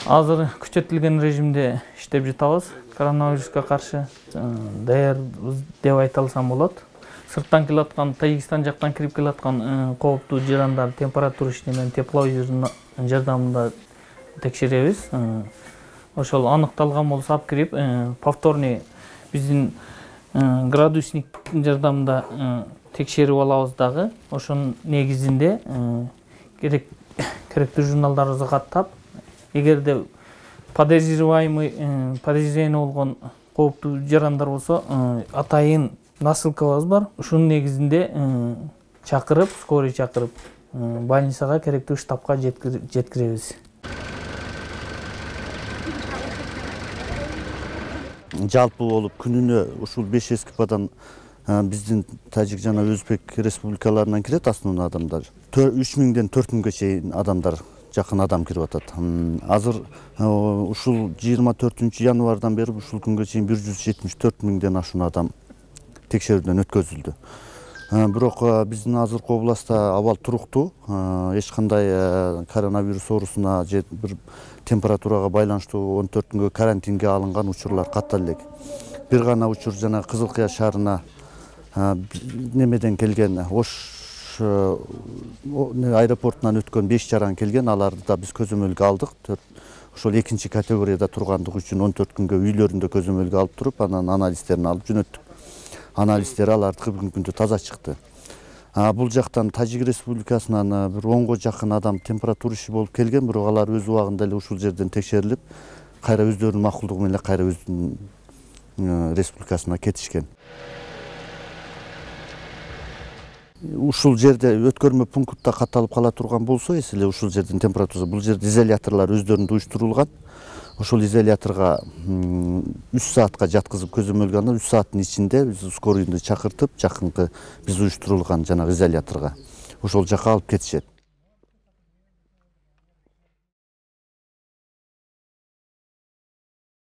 Азыр күчөтүлгөн режимде иштеп жатабыз. Коронавируска каршы даярбыз деп айта алсам болот. Сырттан келаткан, Тажикстан жактан кирип келаткан кооптуу жарандар температурочный менен тепловизордун жардамында текшеребиз. Ошол аныкталган болсо алып кирип, повторный биздин градусниктин жардамында текшерип алабыз дагы. Ошонун негизинде керектүү журналдарыбызды каттап, эгерде подозреваемый болгон кооптуу жарандар болсо, атайын насылкабыз бар. Ушунун негизинде чакырып, скорый чакырып, больницага керектүү штабка жеткиребиз. Жалпы болуп күнүнө ушул 5 эскипадан биздин Тажик жана Өзбек республикаларынан кирет основной адамдар. 3000ден 4000ге чейин адамдар, жакын адам кирип атат. Азыр ушул 24 январдан бери ушул күнгө чейин 174 миңден ашуун адам текшерүүдөн өткөзүлдү. Бирок биздин азыркы областта абал туруктуу, эч кандай коронавирус оорусуна же бир температурага байланыштуу 14 күнгө карантинге алынган учурлар каттал элек. Бир гана учур жана Кызыл Кыя шаарына немеден келген, Ош аэропортунан өткөн 5 жаран келген, аларды да биз көзөмөлгө алдык. Ошол экинчи категорияда тургандыгы үчүн 14 күнгө үйлөрүндө көзөмөлгө алып туруп, анан анализдерин алып жөнөттүк. Анализдери алардыкы бүгүнкү күндө таза чыкты. Бул жактан Тажик Республикасынан бир 10го жакын адам температурасы болуп келген, бирок алар өз убагында эле ушул жерден текшерилип, кайра өздөрүнүн макулдугу менен кайра өздүнүн республикасына кетишкен. Ушул жерде өткөрмө пунктта катталып кала турган болсо, эсиле ушул жердин температурасы, бул жерде изоляторлор өздөрүндө уюштурулган. Ошол изоляторго 3 саатка жаткызып көзөмөлгө алганда, 3 сааттын ичинде биз скорыйды чакыртып, жакынкы биз уюштурулган жанагы изоляторго ошол жака алып кетишет.